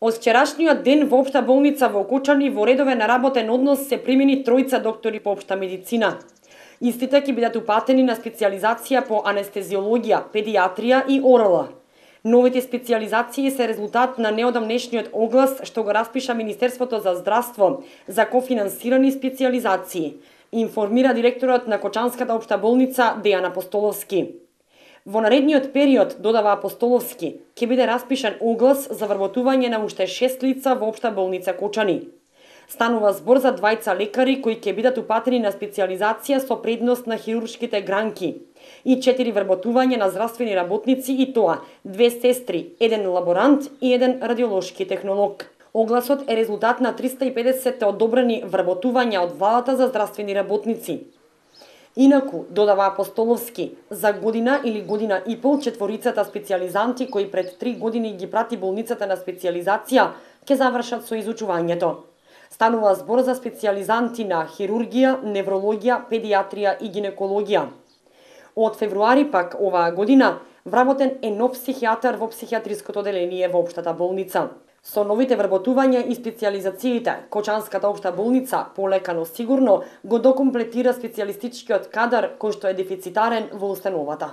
Од вчерашниот ден во Општа болница во Кочани во редовен работен однос се примени тројца доктори по општа медицина. Истите ќе бидат упатени на специјализација по анестезиологија, педиатрија и ОРЛ. Новите специјализации се резултат на неодамнешниот оглас што го распиша Министерството за здравство за кофинансирани специјализации, информира директорот на Кочанската општа болница Дејан Апостоловски. Во наредниот период, додава Апостоловски, ќе биде распишан оглас за вработување на уште 6 лица во Општа болница Кочани. Станува збор за двајца лекари кои ќе бидат упатени на специјализација со предност на хируршките гранки и 4 вработувања на здравствени работници и тоа 2 сестри, 1 лаборант и 1 радиолошки технолог. Огласот е резултат на 350 одобрени вработувања од владата за здравствени работници. Инаку, додава Апостоловски, за година или година и пол четворицата специјализанти кои пред 3 години ги прати болницата на специјализација ќе завршат со изучувањето. Станува збор за специјализанти на хирургија, неврологија, педиатрија и гинекологија. Од февруари пак оваа година вработен е нов психијатар во психијатриското оделение во Општата болница. Со новите вработувања и специјализациите, Кочанската општа болница полека но сигурно го докомплетира специјалистичкиот кадар кој што е дефицитарен во установата.